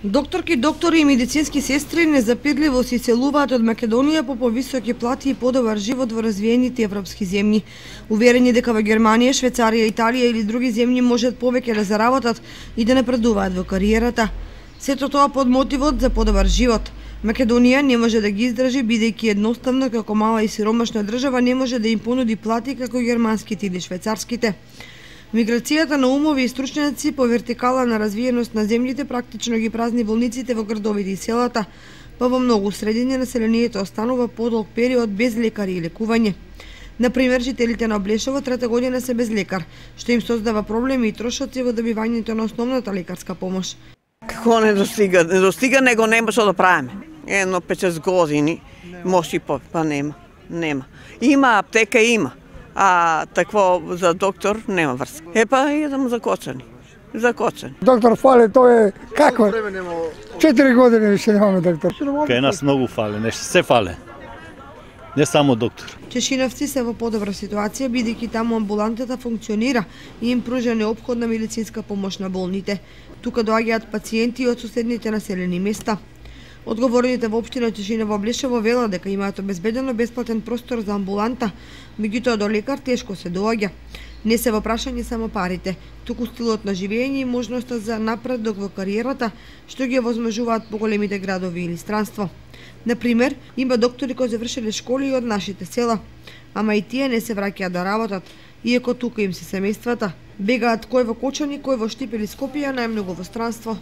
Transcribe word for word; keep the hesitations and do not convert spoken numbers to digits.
Докторки, доктори и медицински сестри незапирливо се иселуваат од Македонија по повисоки плати и подобар живот во развиените европски земји. Уверени дека во Германија, Швајцарија, Италија или други земји можат повеќе да заработат и да напредуваат во кариерата. Сето тоа под мотивот за подобар живот. Македонија не може да ги издржи, бидејќи едноставно како мала и сиромашна држава не може да им понуди плати како германските или швајцарските. Миграцијата на умови и стручњаци по вертикала на развиеност на земјите практично ги празни болниците во градовите и селата, па во многу средини населението останува подолг период без лекари и лекување. Например, жителите на Облешово трета година се без лекар, што им создава проблеми и трошоци во добивањето на основната лекарска помош. Како не достига, не достига, него нема што да правиме. Едно пет-шест години, може и по, па нема, нема. Има аптека, има. А такво за доктор нема врска. Е па идам закочани. Закочани. Доктор фали, тоа е како? Четири години више немаме доктор. Кај нас многу фале, нешто се фале. Не само доктор. Чешиновци се во подобра ситуација бидејќи таму амбулантата функционира и им пружа неопходна медицинска помош на болните. Тука доаѓаат пациенти од соседните населени места. Одговорните во општина Чешиново Облешово велат дека имаат обезбедено бесплатен простор за амбуланта, меѓутоа до лекар тешко се доаѓа. Не се во прашање само парите, туку стилот на живење и можноста за напредок во кариерата, што ги овозможуваат поголемите градови или странство. Например, има доктори кои завршиле школи и од нашите села, ама и тие не се враќаат да работат, иако тука им се семејствата. Бегаат кој во Кочани, кој во Штип или Скопје, најмногу во странство.